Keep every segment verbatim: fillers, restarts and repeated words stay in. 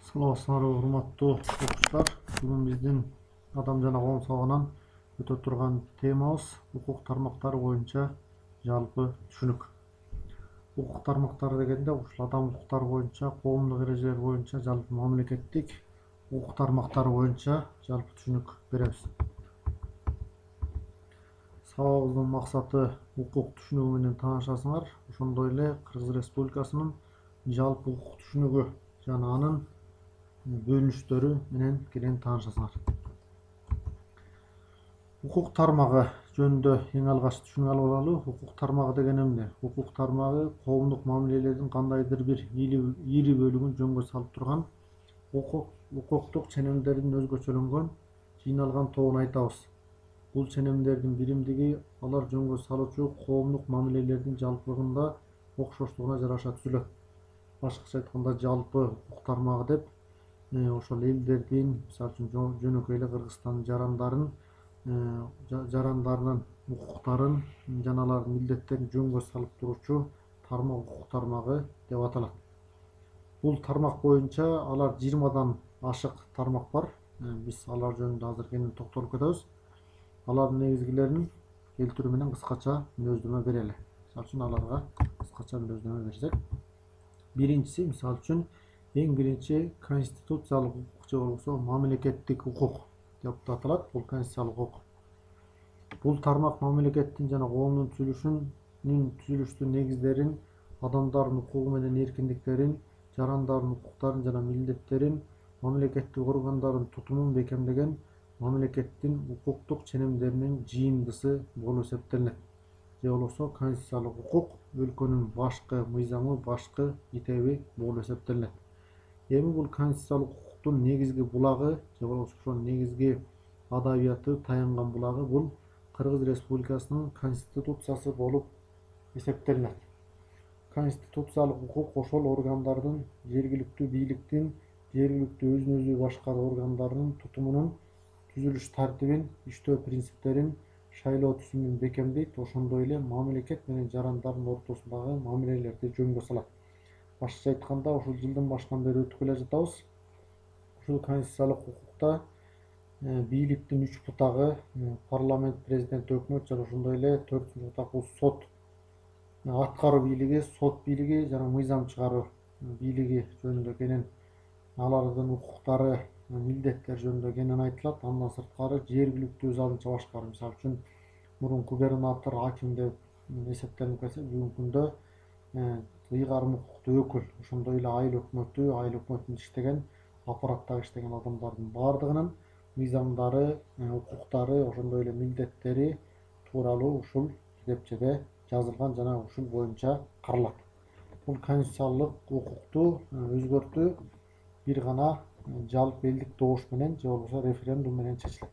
Саламатсыздарбы, урматтуу окуучулар. Бүгүн биздин Адам жана коом сабагынан өтө турган темабыз укук тармактары боюнча жалпы түшүнүк. Укук тармактары дегенде ушул адам укуктары боюнча, коомдук эрежелер боюнча жалпы мамлекеттик укук тармактары боюнча жалпы түшүнүк беребиз. Сабагыбыздын максаты укук түшүнүгү менен таанышасыңар, ошондой эле Кыргыз Республикасынын жалпы укук түшүнүгү жана анын бөлүнүштөрү менен кенен таанышасыңар. Укук тармагы жөнүндө эң алгач түшүнүк алып алалы. Укук тармагы деген эмне? Укук тармагы коомдук мамилелердин кандайдыр бир ири бөлүгүн жөнгө салып турган укуктук ченемдердин өзгөчөлөнгөн жыйналган тобун айтабыз. Бул ченемдердин биримдиги алар жөнгө салуучу коомдук мамилелердин жалпылыгында окшоштугуна жараша түзүлөт. Башкача айтканда жалпы укук тармагы деп ошол элдердин, мисалы үчүн жөнөкөй эле Кыргызстандын жарандарын жарандарынын укуктарын жана алардын милдеттерин жөнгө салып туруучу тармак укук тармагы деп аталат. Бул тармак боюнча алар жыйырмадан ашык тармак бар. Биз алар жөнүндө азыр кенен токтолуп кетебиз. Алардын негизгилерин келтирүү менен кыскача мүнөздөмө берели. Мисалы үчүн аларга кыскача мүнөздөмө берсек, биринчиси мисалы үчүн эң биринчи конституциялык укук же болбосо мамлекеттик укук деп аталат. Бул конституциялык укук. Бул тармак мамлекеттин жана коомдун түзүлүшүнүн түзүлүштүн негиздерин, адамдардын укугу менен эркиндиктерин, жарандардын укуктарын жана милдеттерин, мамлекеттик органдардын тутумун бекемдеген мамлекеттин укуктук ченемдеринин жыйындысы болуп эсептелинет. Же болбосо конституциялык укук өлкөнүн башкы мыйзамы, башкы итеби болуп эсептелинет. Эми бул конституциялык укуктун негизги булагы же болбосо ошол негизги адабияты таянган булагы бул Кыргыз Республикасынын конституциясы болуп эсептелинет. Конституциялык укук ошол органдардын, жергиликтүү бийликтин, жергиликтүү өзүн өзү башкаруу органдарынын тутумунун, түзүлүш тартибин, иштөө принциптерин, шайлоо түзүмүн бекемдейт, ошондой эле мамлекет менен жарандардын ортосундагы мамилелерди жөнгө салат. Башкача айтканда, ушул жылдын башынан бери өтүп келе жатабыз. Ушул конституциялык укукта бийликтин үч бутагы парламент, президент, өкмөт жана ошондой эле төртүнчү бутак бул сот, аткаруу бийлиги, сот бийлиги жана мыйзам чыгаруу бийлиги жөнүндө кенен алардын укуктары, милдеттери жөнүндө кенен айтылат. Андан сырткары жергиликтүү өз алдынча башкаруу, мисалы үчүн мурун губернатор, аким деп эсептелип келсе, бүгүнкү күндө ыйгарым укуктуу өкүл, ошондой эле айыл өкмөтү, айыл өкмөтүндө иштеген, аппараттагы иштеген адамдардын баардыгынын мыйзамдары, укуктары, ошондой эле милдеттери тууралуу ушул китепчеде жазылган жана ушул боюнча каралат. Бул конституциялык укукту өзгөртүү бир гана жалпы элдик добуш менен же болбосо референдум менен чечилет.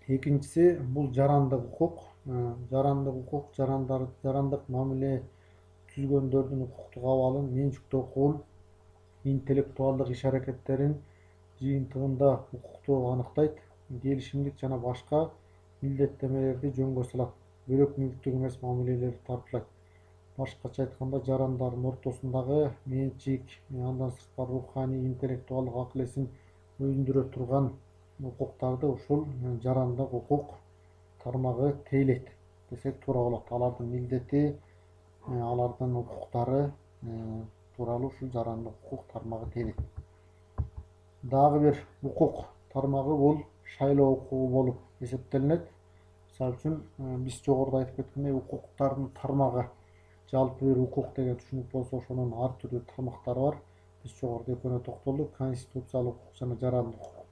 Экинчиси бул жарандык укук. Жарандык укук жарандар жарандык мамиле түзгөндөрдүн укуктук абалын, менчиктүү укугун, интеллектуалдык иш-аракеттерин жыйынтыгында укукту аныктайт, келишимдик жана башка милдеттемелерди жөнгө салат, бөлөк мүлктүк эмес мамилелерди тарткылайт. Башкача айтканда, жарандардын ортосундагы менчик, андан сырткары руханий, интеллектуалдык акыл эсин өзүндүрө турган укуктарды ушул жарандык укук тармагы тейлейт десек туура болот. Алардын милдети, алардын укуктары тууралуу ушул жарандык укук тармагы тейлейт. Дагы бир укук тармагы бул шайлоо укугу болуп эсептелинет. Мисалы үчүн биз жогоруда айтып кеткендей, укуктардын тармагы жалпы бир укук деген түшүнүк болсо, ошонун ар түрдүү тармактары бар. Биз жогоруда экөөнө токтолдук, конституциялык укук жана жарандык укук.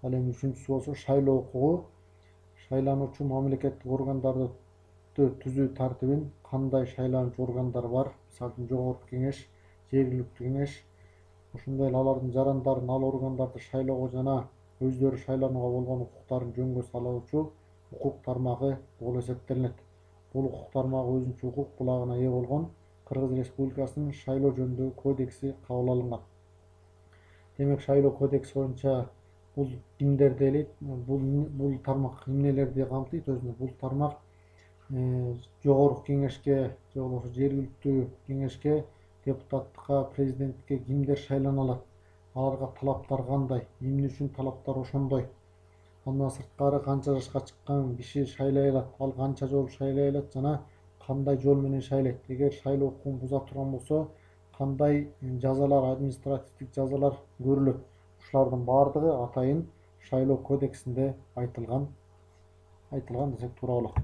Ал эми үчүнчүсү болсо шайлоо укугу. Шайлануучу мамлекеттик органдарды түзүү тартибин, кандай шайлануучу органдар бар, мисалы үчүн жогорку кеңеш, жергиликтүү кеңеш, ошондой эле алардын жарандардын ал органдарды шайлоого жана өздөрү шайланууга болгон укуктарын жөнгө салуучу укук тармагы болуп эсептелинет. Бул укук тармагы өзүнчө укук булагына ээ болгон Кыргыз Республикасынын шайлоо жөнүндөгү кодекси кабыл алынган. Демек, шайлоо кодекси боюнча бул кимдерди ээлейт? Бул бул тармак эмнелерди камтыйт өзүнө? Бул тармак жогорку кеңешке же болбосо жергиликтүү кеңешке депутаттыкка, президенттикке кимдер шайлана алат, аларга талаптар кандай, эмне үчүн талаптар ошондой, андан сырткары канча жашка чыккан киши шайлай алат, ал канча жолу шайлай алат жана кандай жол менен шайлайт, эгер шайлоо укугун буза турган болсо кандай жазалар, административдик жазалар көрүлөт. Ушулардын баардыгы атайын шайлоо кодексинде айтылган айтылган десек туура болот.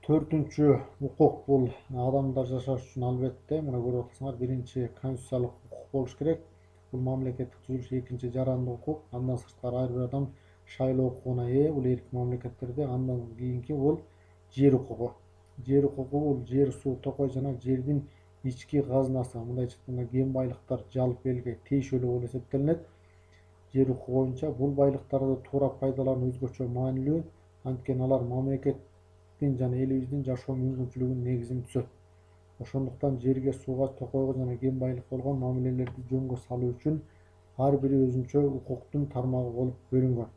Төртүнчү укук бул адамдар жашаш үчүн албетте мына көрүп атасыңар, биринчи конституциялык укук болуш керек. Бул мамлекеттик түзүлүш экинчи жарандык укук. Андан сырткары ар бир адам шайлоо укугуна ээ бул эрки мамлекеттерде. Андан кийинки бул жер укугу. Жер укугу бул жер, суу, токой жана жердин ички казынасы, мындайча айтканда кен байлыктар жалпы элге тиешелүү болуп эсептелинет. Жер укугу боюнча бул байлыктарды туура пайдалануу өзгөчө маанилүү, анткени алар мамлекеттин жана элибиздин жашоо мүмкүнчүлүгүнүн негизин түзөт. Ошондуктан жерге, сууга, токойго жана кен байлыкка болгон мамилелерди жөнгө салуу үчүн ар бири өзүнчө укуктун тармагы болуп бөлүнгөн.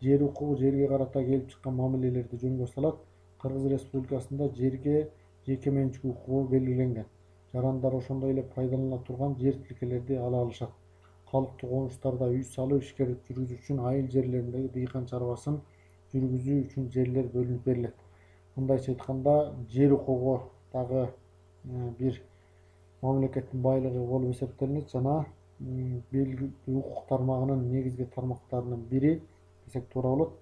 Жер укугу жерге карата келип чыккан мамилелерди жөнгө салат. Кыргыз Республикасында жерге жеке менчик укугу белгиленген. Жарандар ошондой эле пайдалана турган жер тилкелерди ала алышат. Калктуу конуштарда үй салып, ишкерлик жүргүзүү үчүн айыл жерлериндеги дыйкан чарбасын жүргүзүү үчүн жерлер бөлүнүп берилет. Мындайча айтканда, жер укугу дагы бир мамлекеттин байлыгы болуп эсептелинет жана белгилүү укук тармагынын негизги тармактарынын бири десек туура болот.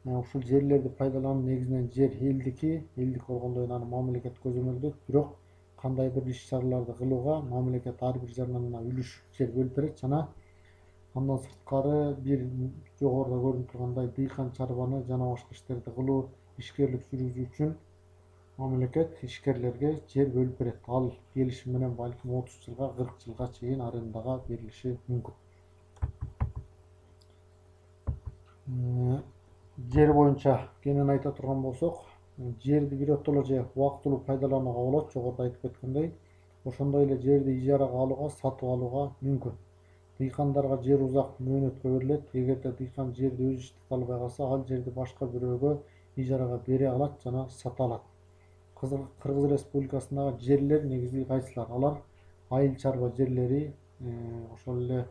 Ушул жерлерди пайдалануу негизинен жер элдики, элдик болгондон аны мамлекет көзөмөлдөйт, бирок кандай бир иш-чараларды кылууга мамлекет ар бир жаранына үлүш жер бөлүп берет жана андан сырткары бир жогоруда көрүнүп тургандай дыйкан чарбаны жана башка иштерди кылуу, ишкерлик жүргүзүү үчүн мамлекет ишкерлерге жер бөлүп берет. Ал келишим менен балким отуз жылга, кырк жылга чейин арендага берилиши мүмкүн. Жер боюнча кенен айта турган болсок, жерди биротоло же убактылуу пайдаланууга болот, жогоруда айтып кеткендей. Ошондой эле жерди ижарага алууга, сатып алууга мүмкүн. Дыйкандарга жер узак мөөнөткө берилет. Эгерде дыйкан жерди өз иштете албай калса, ал жерди башка бирөөгө ижарага бере алат жана сата алат. Кыргыз Республикасындагы жерлер негизи кайсылар? Алар айыл чарба жерлери, ошол эле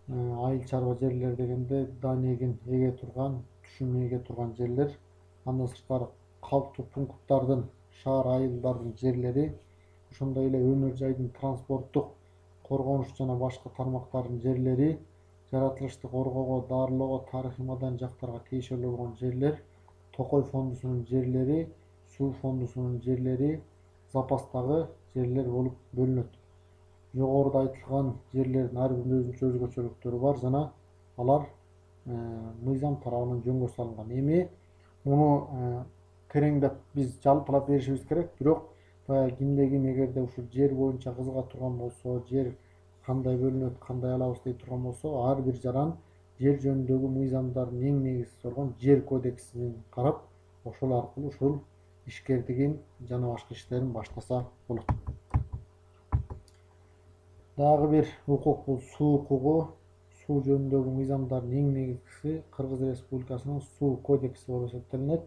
айыл чарба жерлер дегенде дан эгин эге турган, түшүм эге турган жерлер. Андан сырткары калктуу пункттардын, шаар айылдардын жерлери, ошондой эле өмүр жайдын транспорттук, коргонуш жана башка тармактардын жерлери, жаратылышты коргоого, дарылоого, тарыхый маданий жактарга тиешелүү болгон жерлер, токой фондусунун жерлери, суу фондусунун жерлери, запастагы жерлер болуп бөлүнөт. Жогоруда айтылган жерлердин ар биринин өзүнчө өзгөчөлүктөрү бар жана алар мыйзам тарабынан жөнгө салынган. Эми муну тереңдеп биз жалпылап беришибиз керек, бирок баягы кимде ким эгерде ушул жер боюнча кызыга турган болсо, жер кандай бөлүнөт, кандай алабыз дей турган болсо, ар бир жаран жер жөнүндөгү мыйзамдардын эң негизгиси болгон жер кодексин карап, ошол аркылуу ушул ишкердигин жана башка иштерин баштаса болот. Дагы бир укук бул суу укугу. Суу жөнүндөгү мыйзамдардын эң негизгиси Кыргыз Республикасынын суу кодекси болуп эсептелинет.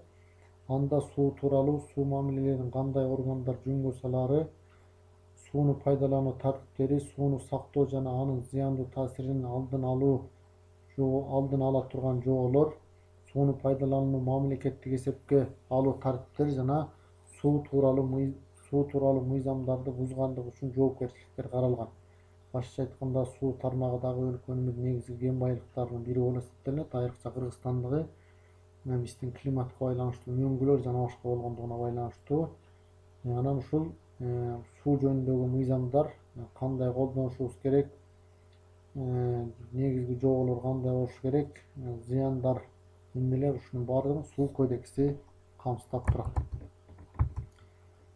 Анда суу тууралуу, суу мамилелерин кандай органдар жөнгө салаары, сууну пайдалануу тартиптери, сууну сактоо жана анын зыяндуу таасирин алдын алуу, алдын ала турган жоболор, сууну пайдаланууну мамлекеттик эсепке алуу тартиптери жана суу тууралуу суу тууралуу мыйзамдарды бузгандык үчүн жоопкерчиликтер каралган. Башкача айтканда, суу тармагы дагы өлкөнүмүздүн негизги кен байлыктарынын бири болуп эсептелинет. Айрыкча Кыргызстандагы биздин климатка байланыштуу мөңгүлөр жана башка болгондугуна байланыштуу. Анан ушул суу жөнүндөгү мыйзамдар кандай колдонушубуз керек, негизги жоболор кандай болуш керек, зыяндар эмнелер, ушунун баардыгын суу кодекси камсыздап турат.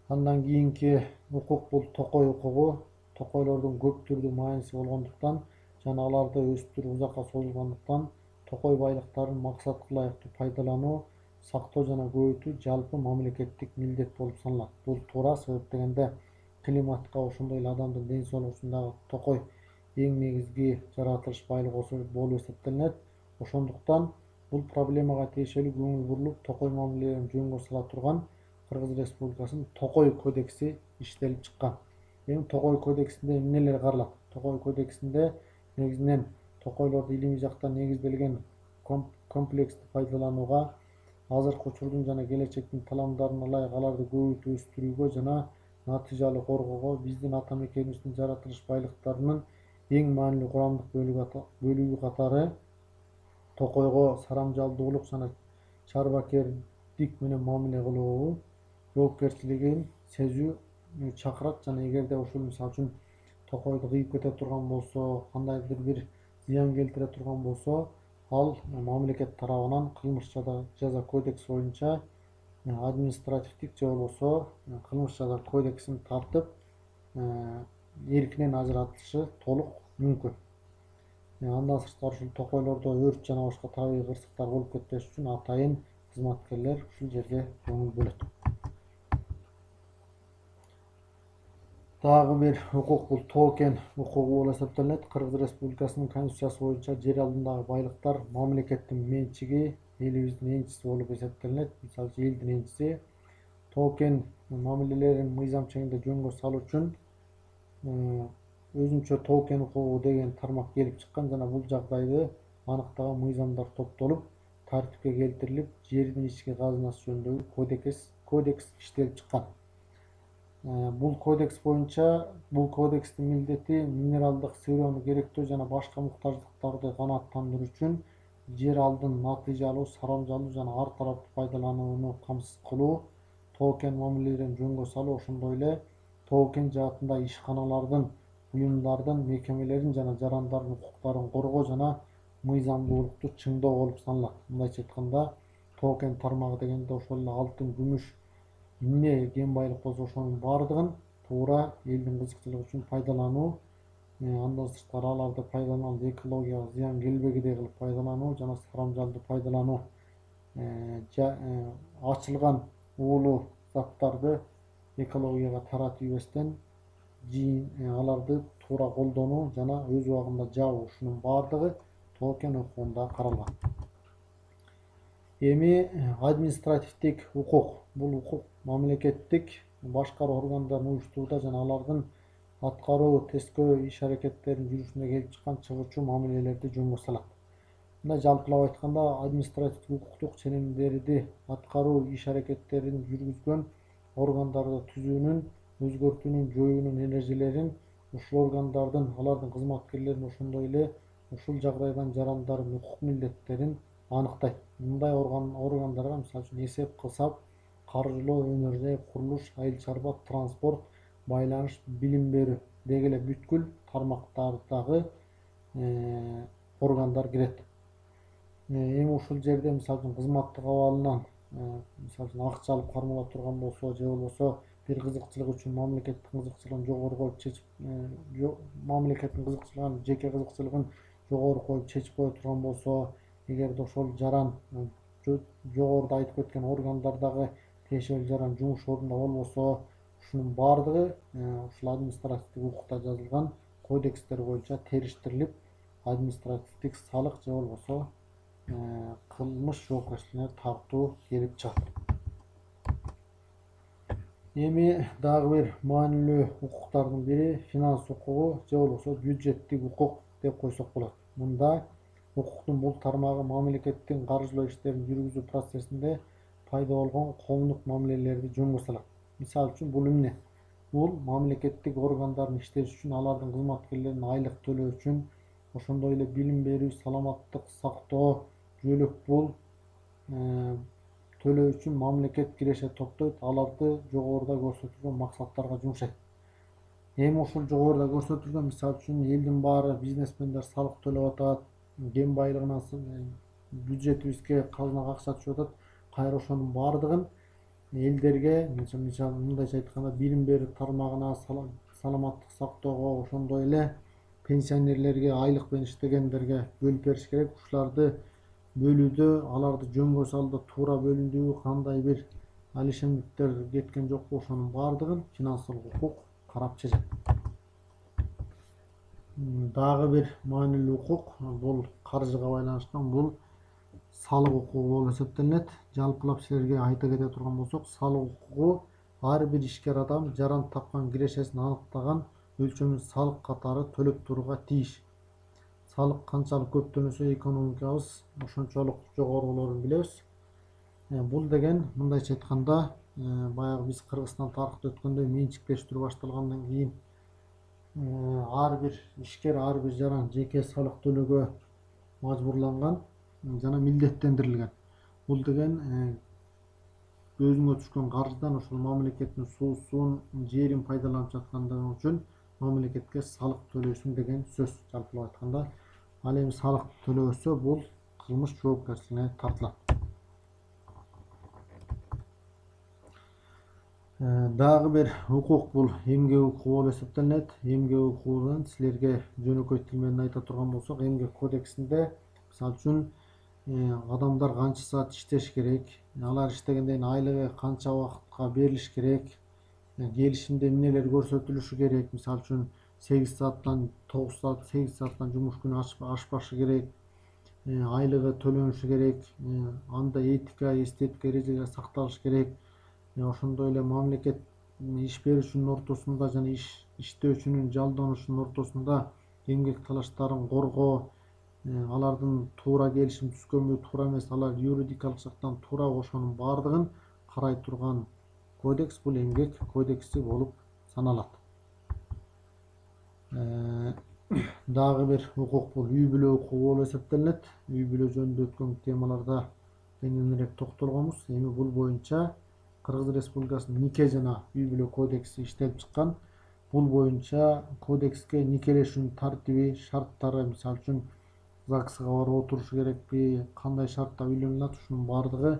Андан кийинки укук бул токой укугу. Токойлордун көп түрдүү мааниси болгондуктан жана аларды өстүрүү узакка созулгандыктан токой байлыктарын максатка ылайыктуу пайдалануу, сактоо жана көбөйтүү жалпы мамлекеттик милдет болуп саналат. Бул туура, себеп дегенде климатка, ошондой эле адамдын ден соолугу үчүн дагы токой эң негизги жаратылыш байлыгы болуп эсептелинет. Ошондуктан бул проблемага тиешелүү көңүл бурулуп, токой мамилелерин жөнгө сала турган Кыргыз Республикасынын Токой кодекси иштелип чыккан. Эми Токой кодексинде эмнелер каралат? Токой кодексинде негизинен токойлорду илимий жактан негизделген комплексти пайдаланууга, азыркы учурдун жана келечектин талабына ылайык аларды көбөйтүп өстүрүүгө жана натыйжалуу коргоого биздин ата мекенибиздин жаратылыш байлыктарынын эң маанилүү курамдык бөлүгү катары токойго сарамжалдуулук жана чарбакердик менен мамиле кылуу жоопкерчилигин сезүү чакырат. Жана эгерде ушул мисалы үчүн токойду кыйып кете турган болсо, кандайдыр бир зыян келтире турган болсо, ал мамлекет тарабынан кылмыш жаза кодекси боюнча административдик же болбосо кылмыш жаза кодексин тартып эркинен ажыратышы толук мүмкүн. Андан сырткары ушул токойлордо өрт жана башка табигый кырсыктар болуп кетпеш үчүн атайын кызматкерлер ушул жерге көңүл бөлөт. Дагы бир укук бул токен укугу болуп эсептелет. Кыргыз Республикасынын Конституциясы боюнча жер алдындагы байлыктар мамлекеттин менчиги, элибиздин энчиси болуп эсептелет. Мисалы үчүн элдин энчиси. Токен мамилелерин мыйзам чегинде жөнгө салуу үчүн өзүнчө токен укугу деген тармак келип чыккан жана бул жагдайды аныктаган мыйзамдар топтолуп, тартипке келтирилип, жердин ички казынасы жөнүндөгү кодекс кодекс иштелип чыккан. Бул кодекс боюнча бул кодекстин милдети минералдык сыроону керектөө жана башка муктаждыктарды канааттандыруу үчүн жер алдын натыйжалуу, сарамжалуу жана ар тараптуу пайдаланууну камсыз кылуу, токен мамилелерин жөнгө салуу, ошондой эле токен жаатында ишканалардын, уюмдардын, мекемелердин жана жарандардын укуктарын коргоо жана мыйзамдуулукту чыңдоо болуп саналат. Мындайча айтканда, токен тармагы дегенде ошол эле алтын, күмүш, эмне кен байлык болсо ошонун баардыгын туура элдин кызыкчылыгы үчүн пайдалануу, андан сырткары аларды пайдалануу экологияга зыян келбегидей кылып пайдалануу жана сарамжалдуу пайдалануу, ачылган уулуу заттарды экологияга таратып ийбестен аларды туура колдонуу жана өз убагында жабуу, ушунун баардыгы токен укугунда каралган. Эми административдик укук. Бул укук мамлекеттик башкаруу органдарын уюштурууда жана алардын аткаруу, тескөө иш-аракеттеринин жүрүшүндө келип чыккан чыгуучу мамилелерди жөнгө салат. Мындай жалпылап айтканда, административдик укуктук ченемдерди аткаруу иш-аракеттерин жүргүзгөн органдарды түзүүнүн, өзгөртүүнүн, жоюунун эрежелерин, ушул органдардын, алардын кызматкерлерин, ошондой эле ушул жагдайдан жарандардын укук милдеттерин аныктайт. Мындай органдарга мисалы үчүн эсеп кысап, каржылоо, өнөр-жай, курулуш, айыл чарба, транспорт, байланыш, билим берүү деги эле бүткүл тармактардагы органдар кирет. Эми ушул жерде мисалы үчүн кызматтык абалынан мисалы үчүн акча алып кармала турган болсо, же болбосо бир кызыкчылык үчүн мамлекеттин кызыкчылыгын жогору коюп чечип, мамлекеттин кызыкчылыгын, жеке кызыкчылыгын жогору коюп чечип кое турган болсо, эгерде ошол жаран жогоруда айтып кеткен органдардагы тиешелүү жаран жумуш ордунда болбосо, ушунун баардыгы ушул административдик укукта жазылган кодекстер боюнча териштирилип, административдик салык же болбосо кылмыш жоопкерчилигине тартуу келип чыгат. Эми дагы бир маанилүү укуктардын бири финанс укугу же болбосо бюджеттик укук деп койсок болот. Мында укуктун бул тармагы мамлекеттин каржылоо иштерин жүргүзүү процессинде пайда болгон коомдук мамилелерди жөнгө салат. Мисалы үчүн бул эмне? Бул мамлекеттик органдардын иштеши үчүн, алардын кызматкерлерине айлык төлөө үчүн, ошондой эле билим берүү, саламаттык сактоо, жөлөк пул төлөө үчүн мамлекет киреше топтойт, аларды жогоруда көрсөтүлгөн максаттарга жумшайт. Эми ушул жогоруда көрсөтүлгөн, мисалы үчүн элдин баары бизнесмендер салык төлөп атат, кен байлыгынан бюджетибизге, казынага акча түшүп атат. Кайра ошонун баардыгын элдерге, мындайча айтканда, билим берүү тармагына, саламаттык сактоого, ошондой эле пенсионерлерге, айлык менен иштегендерге бөлүп бериш керек. Ушуларды бөлүүдө, аларды жөнгө салууда туура бөлүндүбү, кандай бир алишемдиктер кеткен жокпу, ошонун баардыгын финансылык укук карап чыгат. Дагы бир маанилүү укук бул каржыга байланышкан, бул салык укугу болуп эсептелинет. Жалпылап силерге айта кете турган болсок, салык укугу ар бир ишкер адам жаран тапкан кирешесин аныктаган өлчөмүн салык катары төлөп турууга тийиш. Салык канчалык көп төлөсө экономикабыз ошончолук жогору болорун билебиз. Бул деген мындайча айтканда, баягы биз Кыргызстан тарыхта өткөндөй менчиктештирүү башталгандан кийин ар бир ишкер, ар бир жаран жеке салык төлөөгө мажбурланган жана милдеттендирилген. Бул деген өзүңө түшкөн каржыдан ошол мамлекеттин суусун, жерин пайдаланып жаткандыгың үчүн мамлекетке салык төлөйсүң деген сөз, жалпылап айтканда. Ал эми салык төлөбөсө бул кылмыш жоопкерчилигине тартылат. Дагы бир укук бул эмгек укугу болуп эсептелинет. Эмгек укугунан силерге жөнөкөй тил менен айта турган болсок, эмгек кодексинде мисалы үчүн адамдар канча саат иштеш керек, алар иштегенден кийин айлыгы канча убакытка берилиш керек, келишимде эмнелер көрсөтүлүшү керек. Мисалы үчүн сегиз сааттан тогуз саат, сегиз сааттан жумуш күнү ашпашы керек, айлыгы төлөнүшү керек, анда этика, эстетика эрежелери сакталышы керек. Ошондой эле мамлекет иш берүүчүнүн ортосунда жана иш иштөөчүнүн жалданышынын ортосунда эмгек талаштарын коргоо, алардын туура келишим түзгөнбү, туура эмес, алар юридикалык жактан туурабы, ошонун баардыгын карай турган кодекс бул эмгек кодекси болуп саналат. Дагы бир укук бул үй бүлө укугу болуп эсептелинет. Үй бүлө жөнүндө өткөн темаларда кеңирээк токтолгонбуз. Эми бул боюнча Кыргыз Республикасынын нике жана үй бүлө кодекси иштелип чыккан. Бул боюнча кодекске никелешүүнүн тартиби, шарттары, мисалы үчүн ЗАГСга барып отурушу керекпи, кандай шартта үйлөнүлөт, ушунун баардыгы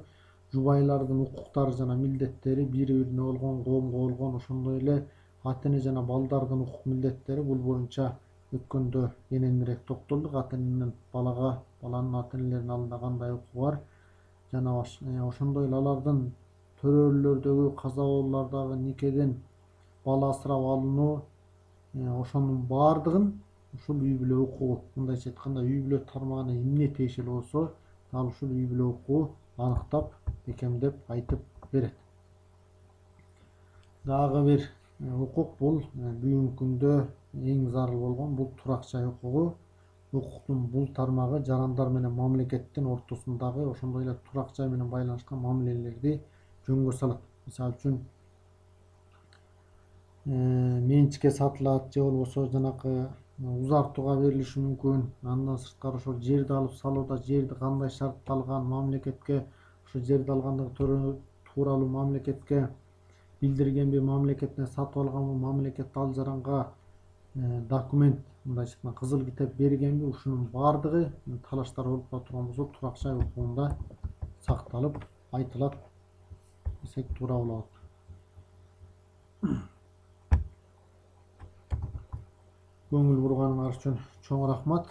жубайлардын укуктары жана милдеттери бири-бирине болгон, коомго болгон, ошондой эле ата эне жана балдардын укук милдеттери бул боюнча өткөндө кененирээк токтолдук. Ата эненин балага, баланын ата энелеринин алдында кандай укугу бар жана ошондой эле алардын төрөлүүлөрдөгү, каза болуулардагы, никеден бала асырап алынуу, ошонун баардыгын ушул үй бүлө укугу, мындайча айтканда, үй бүлө тармагына эмне тиешелүү болсо, дал ушул үй бүлө укугу аныктап, бекемдеп айтып берет. Дагы бир укук бул бүгүнкү күндө эң зарыл болгон бул турак жай укугу. Укуктун бул тармагы жарандар менен мамлекеттин ортосундагы ошондой эле турак жай менен байланышкан мамилелерди жөнгө салат. Мисалы үчүн менчикке сатылат же болбосо жанакы узартууга берилиши мүмкүн. Андан сырткары ошол жерди алып салууда жерди кандай шартта алган, мамлекетке ошо жерди алгандыгы тууралуу мамлекетке билдиргенби, мамлекеттен сатып алганбы, мамлекет ал жаранга документ, мындайча айтканда кызыл китеп бергенби, ушунун баардыгы талаштар болуп кала турган болсо турак жай укугунда сакталып айтылат десек туура болот. Көңүл бурганыңар үчүн чоң рахмат.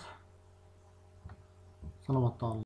Саламатта калыңар.